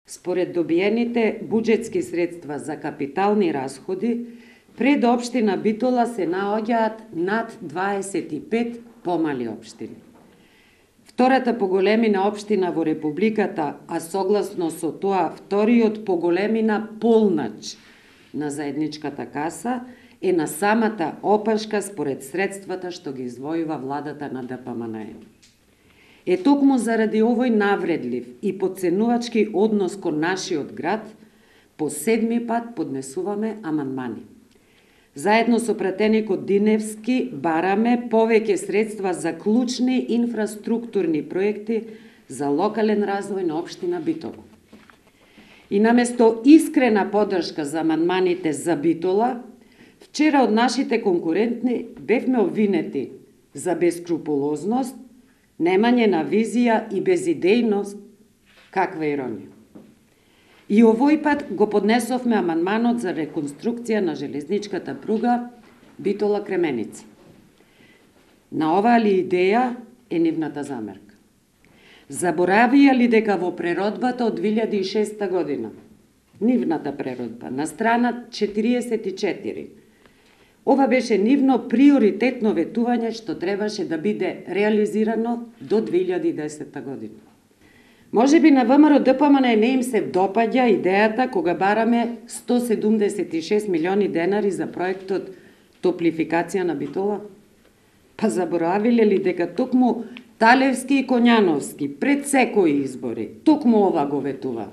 Според добиените буџетски средства за капитални расходи, пред општина Битола се наоѓаат над 25 помали општини. Втората по големина општина во Републиката, а согласно со тоа вториот по големина полнач на заедничката каса, е на самата опашка според средствата што ги издвојува владата на ДПМН. Токму заради овој навредлив и потценувачки однос кон нашиот град, по 7 пат поднесуваме амандмани. Заедно со пратеникот Диневски бараме повеќе средства за клучни инфраструктурни проекти за локален развој на општина Битола. И наместо искрена поддршка за амандманите за Битола, вчера од нашите конкуренти бевме обвинети за бескрупулозност, немање на визија и безидејност. Каква иронија. И овој пат го поднесовме амандманот за реконструкција на железничката пруга Битола-Кременица. На оваа ли идеја е нивната замерка? Заборавија ли дека во преродбата од 2006 година, нивната преродба, на страна 44, ова беше нивно приоритетно ветување што требаше да биде реализирано до 2010 година. Може би на ВМРО ДПМН не им се допаѓа идејата кога бараме 176 милиони денари за проектот топлификација на Битола? Па заборавиле ли дека токму Талевски и Коњановски пред секои избори токму ова го ветува?